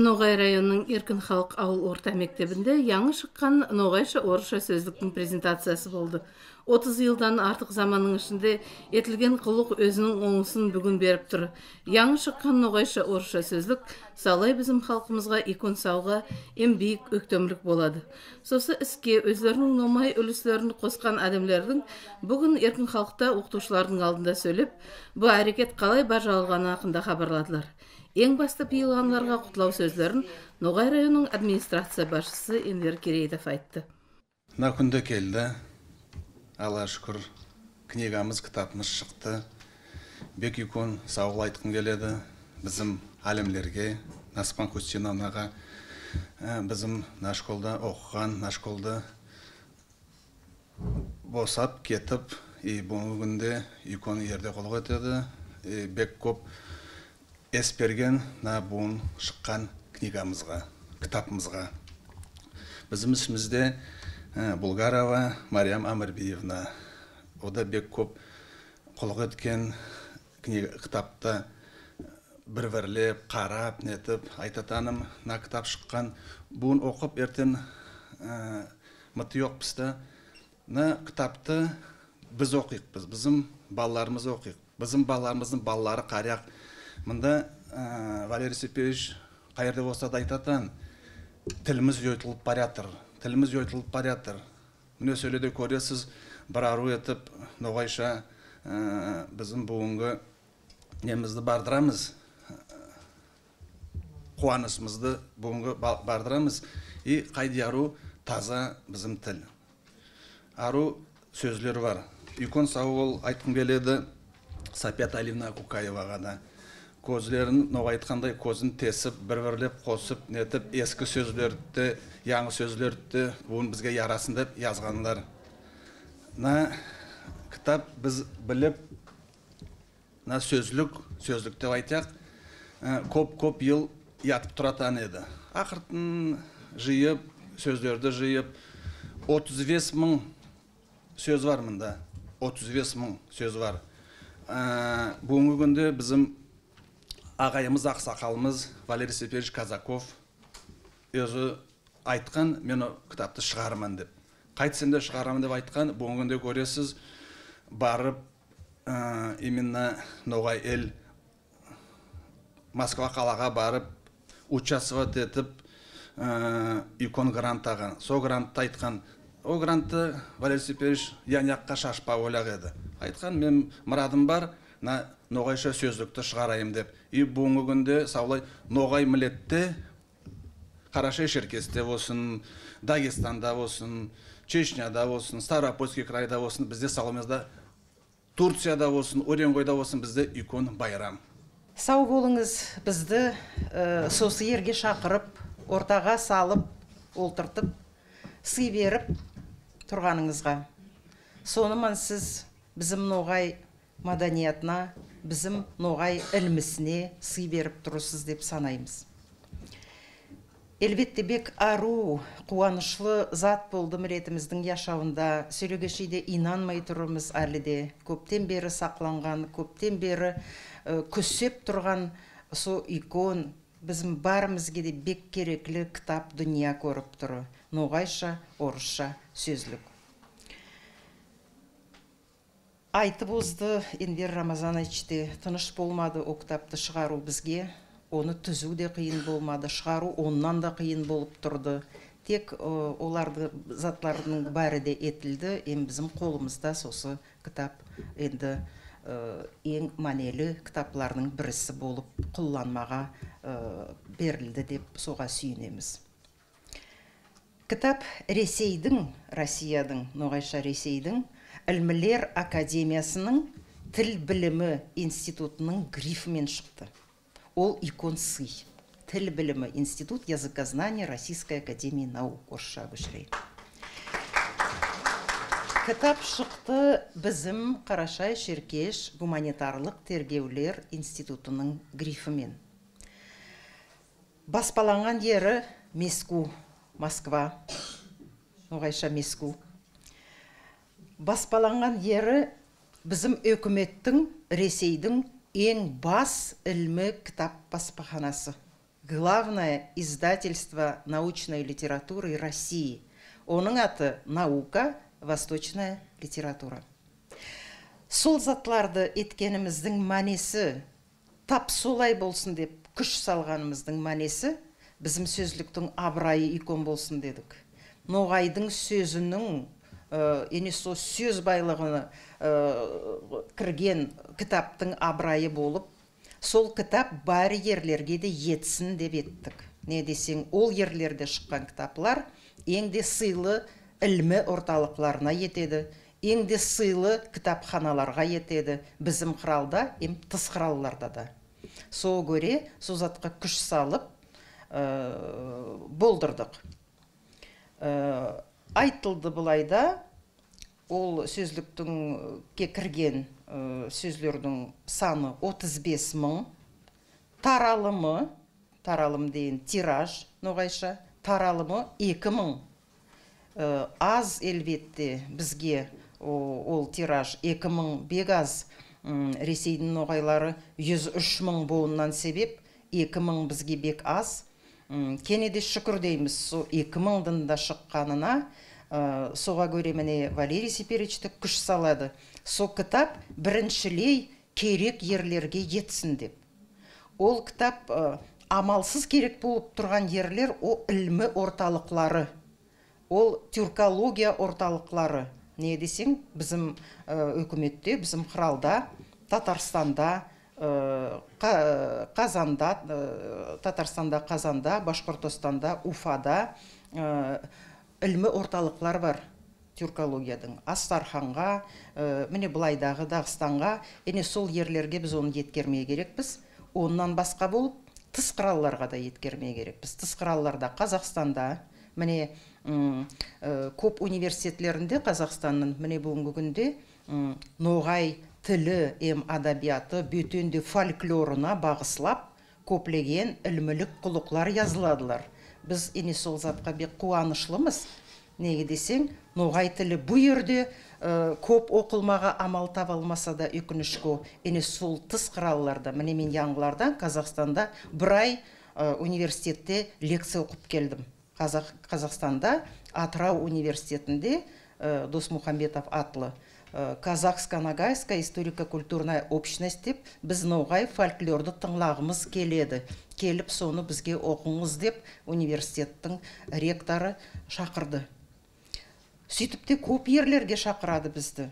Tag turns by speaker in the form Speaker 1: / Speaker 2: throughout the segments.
Speaker 1: Ноғай районының Еркін халық ауыл орта мектебінде яңы шыққан ноғайша орысша сөздіктің презентациясы болды. 30 жылдан артық заманның ішінде етілген құлық өзінің оңысын бүгін беріп тұр. Яңы шыққан ноғайша орысша сөздік салай bizim халқымызға икон сауға ем биік өктемлік болады. Сосы іске өздерінің номай үліслерін қосқан адамлардың бүгін Еркін халықта оқытушылардың алдында сөйлеп, бұл әрекет қалай бажалғаны хақында хабарладылар. Ең басты пиылғанларға құтлау сөздерін Ноғай районының администрация басшысы Энвер Керейдов айтты.
Speaker 2: Мына күнде келді. Алла шүкір, книгамыз, кітапымыз шықты. Бек икон сауғыл айтқым келеді. Bizim әлемлерге, Наспан Кустиновнаға, bizim нашколда оқыған, нашколда босап, кетіп, бүгінде икон ерде қолғы өтеді. Бек көп есперген бұн шыққан книгамызға, кітапымызға. Bizim ішімізде Булгарова Мариям Амарбиевна. Ода бек көп қолғы өткен кітапта бір-бірлеп, қарап, нетіп, айтатаным, на кітап шыққан. Бұн оқып ертен мұты жоқ бізді. На кітапты біз оқиқпыз, bizim балаларымыз оқиқ. Bizim балаларымыздың балалары қарияқ. Мында Валерий Сеперевич қайырды болса да айтатын, тіліміз өйтіліп баратыр, тіліміз өйтіліп баратыр. Міне сөйледе көресіз, бір ару етіп, ноғайша біздің бүгінгі немізді бардырамыз, қуанысымызды бүгінгі бардырамыз. И қайды ару таза біздің тіл. Ару сөзлер бар. Икон сауыл айтқым келеді Сапет Алина Кукаеваға да. Көзлерін, ноғай айтқандай, көзін тесіп, бір-бірлеп қосып, нетіп, ескі сөзлерді, яңы сөзлерді бұның бізге ярасын деп yazғандар. На кітап біз біліп, на сөзлік деп айтақ, көп ел ятып тұратан еді. Ақыртын жиып, сөзлерді жиып, 35 мың сөз бар мұнда. 35 мың сөз бар. Бүгінгі күнде bizim ағайымыз, ақсақалымыз Валерий Сеперевич Казаков өзі айтқан, мен кітапты шығарман деп. Қайтсем де шығарамын деп айтқан, бүгінгі көресіз барып, именно Ноғай ел Москва қалаға барып, участвовать етіп, икон грант аған. Со грантты айтқан. О грантты Валерий Сеперевич яңаққа шашпа ойлақ еді. Айтқан, мен мұрадым бар, ноғайша сөздікті шығарайым деп. И бүгінгі күнде саулай ноғай милетте, Қарашай Шеркесте болсын, Дагестанда болсын, Чечняда болсын, Ставропольский крайда болсын, бізде салымызда Турцияда болсын, Уренгойда болсын, бізде икон байрам.
Speaker 3: Сау болыңыз, бізді сосы ерге шақырып, ортаға салып, олтыртып, сый беріп тұрғаныңызға. Сонымен сіз bizim ноғай маданиятына, bizim ноғай ілмісіне сый беріп тұрысыз деп санаймыз. Әлбетте бек ару, қуанышлы зат болды мұретіміздің яшауында. Сөйлегешейде инанмай тұрымыз әліде. Көптен бері сақланған, көптен бері көсеп тұрған со икон, bizim барымызге де бек кереклі кітап дүния көріп тұры. Ноғайша, орысша сөзлік. Айтып өзді Энвер Рамазановичте тыныш болмады о кітапты шығару бізге. Оны түзу де қиын болмады, шығару оннан да қиын болып тұрды. Тек оларды затлардың бәрі де етілді, bizim қолымызда сосы кітап енді ең мәнелі кітапларының бірісі болып құлланмаға берілді деп соға сүйінеміз. Кітап Россиядың, ноғайша Ресейдің Ілмілер Академиясының тіл білімі институтының грифімен шықты. Ол икон сый. Тіл білімі институт языкознания Российской Академии наук орысша көшірей. Кітап шықты bizim Қарашай Шеркеш гуманитарлық тергеулер институтының грифімен. Баспаланған ері Меску, Москва, ноғайша Меску. Баспаланған ері bizim өкіметтің, Ресейдің ең бас ілмі кітап баспаханасы. главное издательство научной литературы России. Оның аты «Наука. Восточная литература». Сол затларды еткеніміздің мәнесі, тап солай болсын деп күш салғанымыздың мәнесі, біздің сөзліктің абырайы икон болсын дедік. Ноғайдың сөзінің, со сөз байлығына кірген кітаптың абырайы болып, сол кітап бар ерлерге де етсін деп еттік. Не десең, ол ерлерде шыққан кітаплар еңде сыйлы ілмі орталықларына етеді, еңде сыйлы кітапханаларға етеді, біздің қыралда, тыс қыралларда да. Сол көре, сол затқа күш салып болдырдық. Айтылды бұлайда, ол сөзліктің кірген сөзлердің саны 35 мың, таралым дейін тираж, ноғайша, таралымы 2 мың. Аз елбетте бізге ол тираж 2 мың бек аз, Ресейдің ноғайлары 103 мың болуынан себеп, 2 мың бізге бек аз. Кенеде шүкір дейміз, со 2 мыңдың да шыққанына, соға көре міне Валерий Сеперичті күш салады. Со кітап біріншілей керек ерлерге етсін деп. Ол кітап амалсыз керек болып тұрған ерлер, о ілмі орталықлары, ол тюркология орталықлары. Не десең, біздің өкіметте, біздің қыралда, Татарстанда, Қазанда, Башқұртостанда, Уфада ілмі орталықлар бар тюркологиядың. Астарханға, міне бұлайдағы Дағыстанға, сол ерлерге біз оны еткермей керекпіз. Оннан басқа болып, тыс қыралларға да еткермей керекпіз. Тыс қыралларда Қазақстанда, міне көп университетлерінде Қазақстанның, міне бүгінгі күнде ноғай тілі, адабияты, бөтенде фольклорына бағыслап, көплеген ілмілік құлықлар yazıladılar. Біз сол затқа бек қуанышлымыз. Неге десең, ноғай тілі бұл ерде көп оқылмаға амал табылмаса да өкінішкі, сол тыс қыралларда, міне мен яңғылардан Қазақстанда бір ай университетте лекция оқып келдім. Қазақстанда Атырау университетінде Досмухамбетов атлы Казахско-Ногайская историко-культурная общность деп біз ноғай фольклорды тыңлағымыз келеді. Келіп соны бізге оқыңыз деп университеттің ректоры шақырды. Сөйтіп те көп ерлерге шақырады бізді.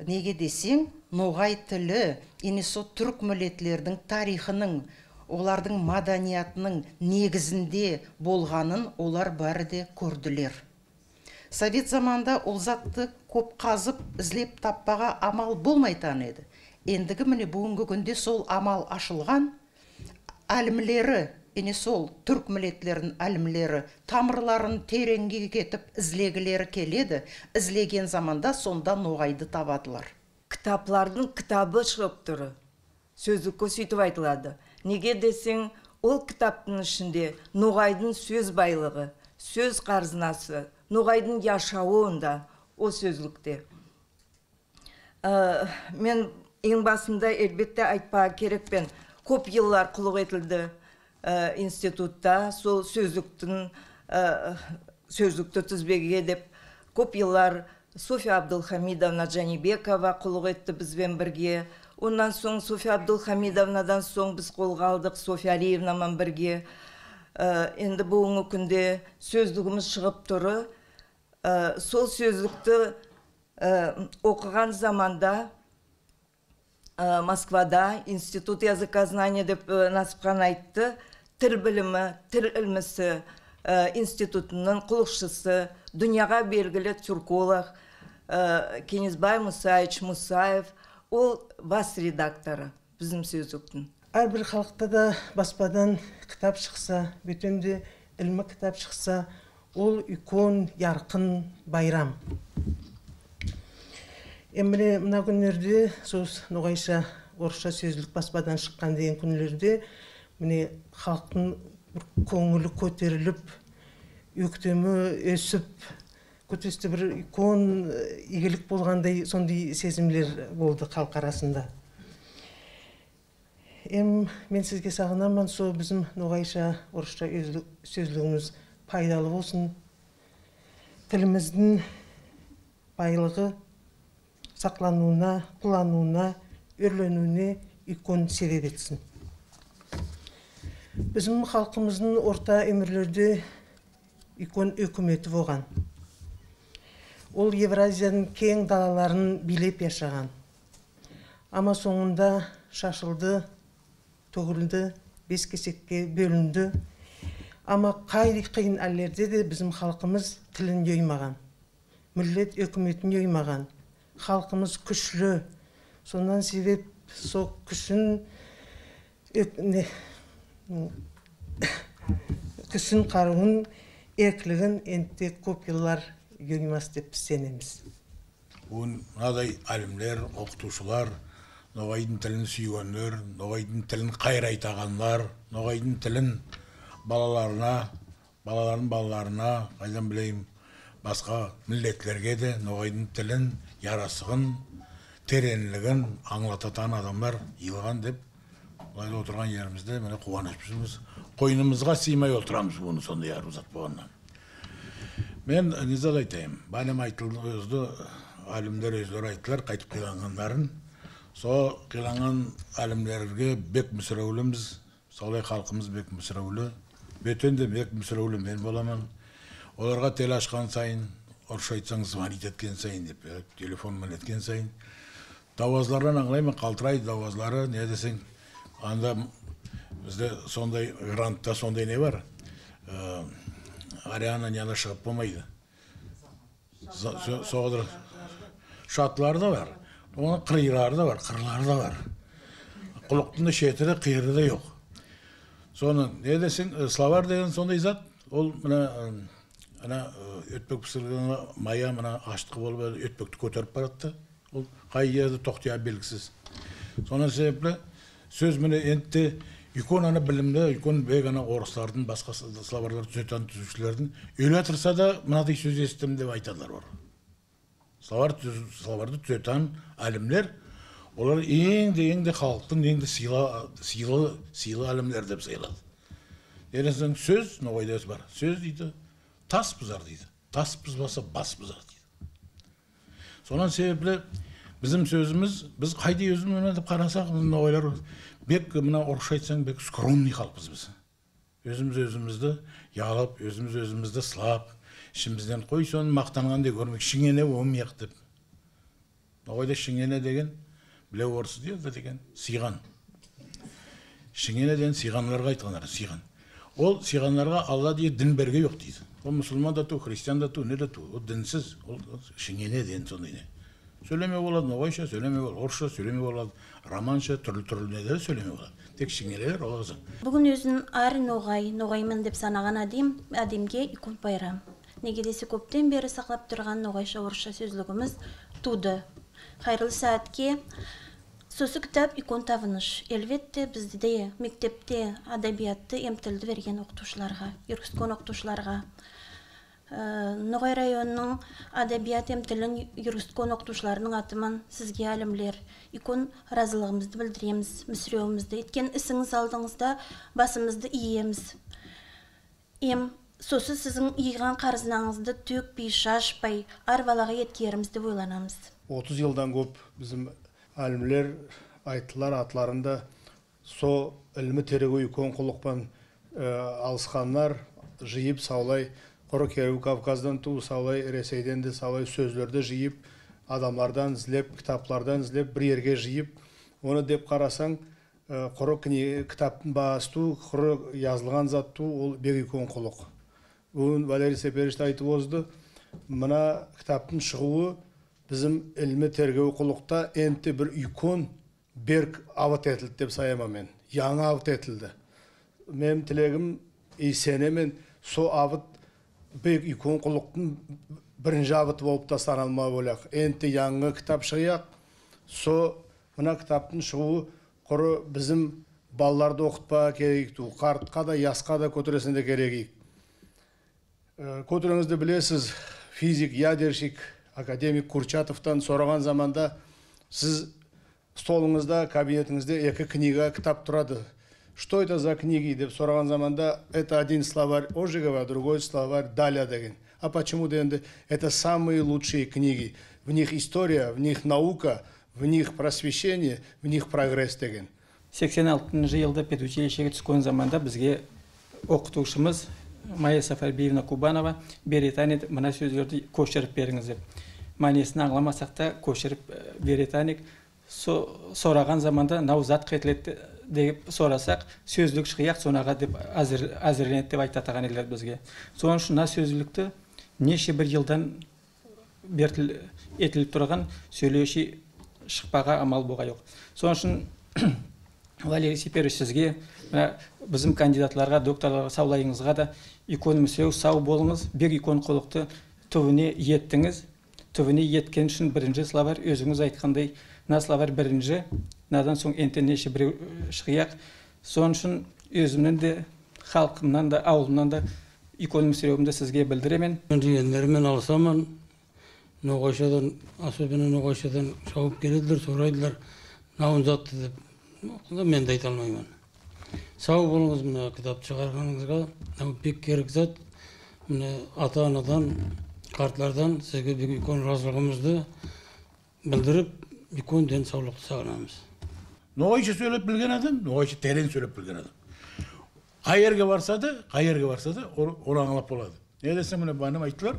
Speaker 3: Неге десең, ноғай тілі, со түрік мілетлердің тарихының, олардың маданиятының негізінде болғанын олар бәрі де көрділер. Совет заманда ол затты көп қазып, ізлеп таппаға амал болмайтан еді. Ендігі міне бүгінгі күнде сол амал ашылған, әлімлері, сол түрк мілетлерінің әлімлері тамырларын тереңге кетіп ізлегілері келеді. Ізлеген заманда сонда ноғайды табадылар.
Speaker 4: Кітаплардың кітабы шығып тұры. Сөздікке сөйтіп айтылады. Неге десең, ол кітаптың ішінде ноғайдың сөз байлығы, сөз қарзынасы, ноғайдың яшауында, о сөзлікте. Мен ең басында әлбетте айтпаға керекпен, көп еллар құлық етілді институтта, сол сөздікті тізбеге деп, көп еллар София Абдылхамидовна Джанибекова құлық етті бізбен бірге. Ондан соң София Абдылхамидовнадан соң біз қолға алдық София Алиевнамен бірге. Енді бүгінгі күнде сөздігіміз шығып тұры. Сол сөздікті оқыған заманда Москвада Институт языкознания деп Насыпхан айтты. Тіл білімі, тіл ілмісі институтының құлықшысы, дүнияға белгілі тюрколог Кенесбай Мусаевич Мусаев, ол бас редакторы біздің сөздіктің.
Speaker 5: Әрбір халықта да баспадан кітап шықса, бөтенде ілмі кітап шықса, ол үлкен, ярқын байрам. Еміне мына күндерде, сөз ноғайша орысша сөзлік баспадан шыққан деген күндерде, міне халықтың көңілі көтеріліп, өктемі өсіп, көтесті бір үлкен игілік болғандай сондай сезімлер болды халық арасында. мен сізге сағынамын, со біздің ноғайша орысша сөзлігіміз пайдалы болсын. Тіліміздің байлығы сақлануына, құлануына, өрленуіне икон себеп етсін. Bizim halkımızın orta ömürlerde ikon hükümeti болған. Ол Евразияның кең далаларын билеп yaşаған. Ama соңында шашылды, төгілді, бес кесекке бөлінді. Ama қиын әллерде де bizim халқымыз тілін жоймаған. Millet hükümetini жоймаған. Халқымыз күшлі. Сондан себеп со күшін күшін қаруын, еркілігін енте көп жылдар жоймас деп сенеміз.
Speaker 6: Мынадай әлімлер, оқытушылар, ноғайдың тілін сүйгендер, ноғайдың тілін қайрайтағандар, ноғайдың тілін балаларына, балалардың балаларына, қайдан білейм, басқа миллетлерге де ноғайдың тілін, ярасығын, тереңлігін аңлататын адамдар йылған деп, бұлайда отырған жерімізде міне қуанышпыз. Қойнымызға сыймай отырамыз бұны сондай арузат болғаннан. Мен низад айтайым, бәлем айтылды өзді, әлімдер өздері айтылар, қайтып қиланғандарын. Со қиланған әлімдерге бек мүсіреуліміз, солай халқымыз бек мүсіреулі. Бөтен де бек мүсіреулі мен боламын. Оларға тел ашқан сайын, орысша айтсаң звонить еткен сайын деп, телефонмен еткен сайын. Давазлардан аңлаймын, қалтырайды давазлары, не десең, анда бізде сондай грантта сондай не бар? Ариана неда шығып болмайды. Соғыдыр. Шатлары да бар, оның қиырары да бар, қырлары да бар. Құлықтың шетірі, қиыры да жоқ. Соны, не десең, словар деген сондай зат, ол мына өтпек пісіргені мая мына аштықы болып өтпекті көтеріп баратты. Ол қай жерде тоқтия белгісіз. Соны себеплі сөз міне енді икон ана білімді, икон бек ана орыстардың, басқа словарлар түзетен түзушілердің өлі тұрса да мынадай сөз естім деп айтадылар бар. Словарды түзетен әлімлер, олар ең-де халықтың ең-де сыйлы әлімлер деп сыйлады. Ересің сөз, ноғайда бар, сөз дейді, тас бұзар дейді. Тас бұзбаса бас бұзар дейді. Сонан себеплі bizim sözümüz, biz қайда өзіміз деп қарасақ, ноғайлар бек мына орысша айтсаң бек скромный халқпыз біз. Өзімізді ялып, өзімізді сылап, ішімізден қой соны мақтанғандай көрмек, шыңене омияқ деп. Ноғайда шыңене деген, біле орысы дейді деген, сыйған. Шыңене деген сыйғанларға айтқандар, сыйған. Ол сыйғанларға Алла дейді дін берге жоқ дейді. Ол мұсылман да ту, христиан да ту, не да ту, ол дінсіз, ол шыңене деген сондай не. Сөйлеме болады, ноғайша сөйлеме болады, орысша сөйлеме болады, романша, түрлі недері сөйлеме болады. Тек шыңелер олағызы.
Speaker 7: Бүгін өзін ар ноғаймын деп санаған әдемге икон байрам. Неге десе көптен бері сақлап тұрған ноғайша орысша сөзлігіміз туды. Қайырлы сәтке сосы кітап икон тавыныш. Әлбетте бізде де мектепте адабиятты емтілді берген оқытушыларға, юрискон оқытушыларға. Ноғай районының адабият емтілін юрискон оқытушыларының атыман сізге әлімлер. Икон разылығымызды білдіреміз, мүсіреуімізді. Еткен ісіңіз алдыңызда басымызды иеміз. Сосы сіздің иған қарызынаңызды төкпей, шашпай, арбалаға еткерімізді ойланамыз.
Speaker 8: 30 жылдан көп bizim әлімлер айтылар атларында со ілімі терегі икон құлықпан алысқанлар жиып саулай, Құры Керу Кавказдан ту саулай, Ресейден де саулай сөзлерді жиып, адамлардан ізлеп, кітаплардан ізлеп, бір ерге жиып, оны деп қарасаң, құры кітаптың бағасту, құры yazылған затту, ол бек икон құлық. Бүгін Валерий Сеперишті айтып озды, мына кітаптың шығуы bizim ilmi tergevi құлықта энті бір икон берк ават етілді деп sayama мен. Яңа ават етілді. Мен тілегім сене мен со ават бек икон құлықтың бірінші ават болып та саналма болақ. Энті яңы кітап шығияқ. Со мына кітаптың шығуы құры bizim балаларды оқытпа керек. Қартқа да, ясқа да көтересінде керек. Көтеріңізді білесіз, физик, ядерщик, академик Курчатовтан сұраған заманда сіз столыңызда, кабинетіңізде екі книга кітап тұрады. Что это за книги деп сұраған заманда, это один словарь Ожегова, другой словарь Даля деген. А почему дегенде, это самые лучшие книги. В них история, в них наука, в них просвещение, в них прогресс деген.
Speaker 9: 86 жылда педучилищеге түскен заманда бізге оқытушымыз Майя Сафарбиевна Кубанова беретанет мына сөздерді көшіріп беріңіз деп. Манесін аңламасақ та көшіріп беретанек. Сораған заманда наузат қетілетті деп сорасақ, сөздік шықияқ сонаға деп әзірленет деп айтатаған елер бізге. Соның үшін сөзділікті неше бір жылдан етіліп тұрған сөйлеуші шықпаға амал болға жоқ. Соның үшін Валерий Сиперович сізге, біздің кандидатларға, докторларға саулайыңызға да иконымыз сау болыңыз, бір икон қолықты түвіне еттіңіз. Түвіне еткен үшін бірінші словарь, өзіңіз айтқандай, на словарь бірінші, надан соң неше бір шықияқ. Соның үшін өзімнен де, халқымнан да, ауылымнан да иконымыз сізге білдіремен.
Speaker 10: Дегендермен алсаман, ноғайшадан, особенно ноғайшадан шауып келеділер, сұрайдылар, науын затты деп. Мен де айта алмаймын. Сау болыңыз, мына кітап шығарғаныңызға, бек керек зат, мына ата-анадан, қартлардан сізге бір икон разылығымызды білдіріп, икон ден саулықты сағынамыз.
Speaker 6: Ноғайша сөйлеп білген адам, ноғайша терең сөйлеп білген адам. Қай жерге барса да, оны аңлап болады. Не десем, мына баным айтылар,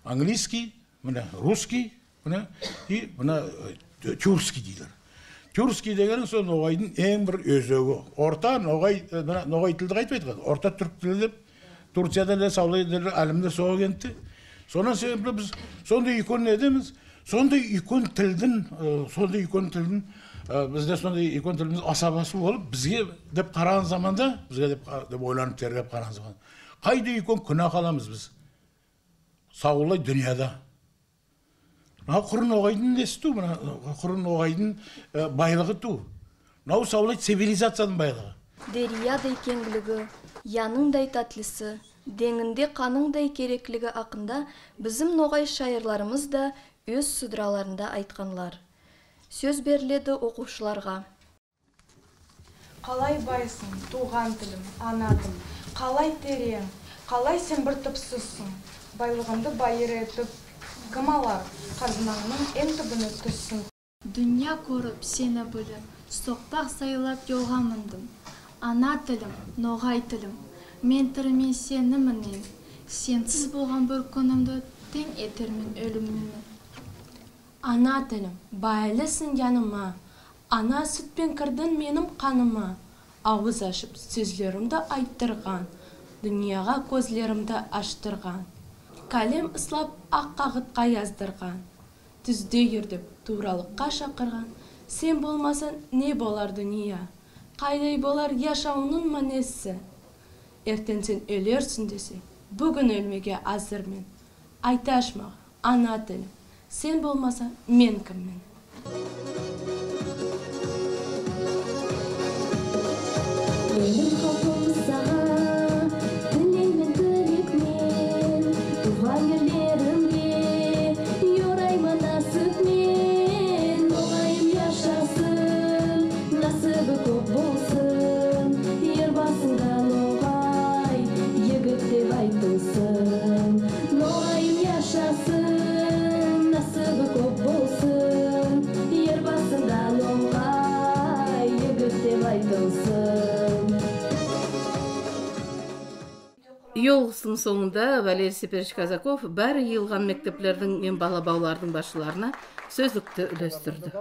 Speaker 6: английский, мына русский, мына тюркский дейлер. Тюркский дегенің сол ноғайдың ең бір өзегі. Орта ноғай тілді қайтпайды. Орта түрк тілі деп, Турцияда да саулайды әлімде соға кентті. Сонан себепті біз сондай икон не едеміз? Сондай икон тілдің, бізде сондай икон тіліміз асабасы болып, бізге деп қараған заманда, бізге деп ойланып тергеп қараған заманда. Қайда икон күнә қаламыз біз? Саулай дүнияда. Құрын оғайдың несі ту, құрын оғайдың байлығы ту. Нау саулай цивилизацияның байлығы.
Speaker 11: Дериядай кеңгілігі, яныңдай татлысы, деңінде қаныңдай кереклігі ақында біздің ноғай шайырларымыз да өз сұдыраларында айтқанлар. Сөз беріледі оқушыларға.
Speaker 12: Қалай байсың, туған тілім, ана тілім, қалай терең, қалай сен бір түпсізсің, байлығымды байыр етіп, Кымалар, қазынаңның ең түбіні түссін.
Speaker 13: Дүния көріп сені біліп, соқпақ сайлап жолға міндім. Ана тілім, ноғай тілім, мен тірімен сені мінен, сенсіз болған бір күнімді тең етермен өлімімді.
Speaker 14: Ана тілім, байлысың жаныма, ана сүтпен кірдің менің қаныма, ауыз ашып сөзлерімді айттырған, дүнияға көзлерімді аштырған. Кәлем ұслап ақ қағытқа яздырған, түзде ердіп туралыққа шақырған, сен болмасын не болар дүния, қайдай болар яшауының мәнесі. Ертең сен өлерсің десе, бүгін өлмеге азырмен. Айташ маған, ана тілім, сен болмаса мен кіммін?
Speaker 1: Yolғысының соңында Валерий Сиперович Казаков бәрі йылған мектеплердің мен балабаулардың басшыларына сөздікті үлестірді.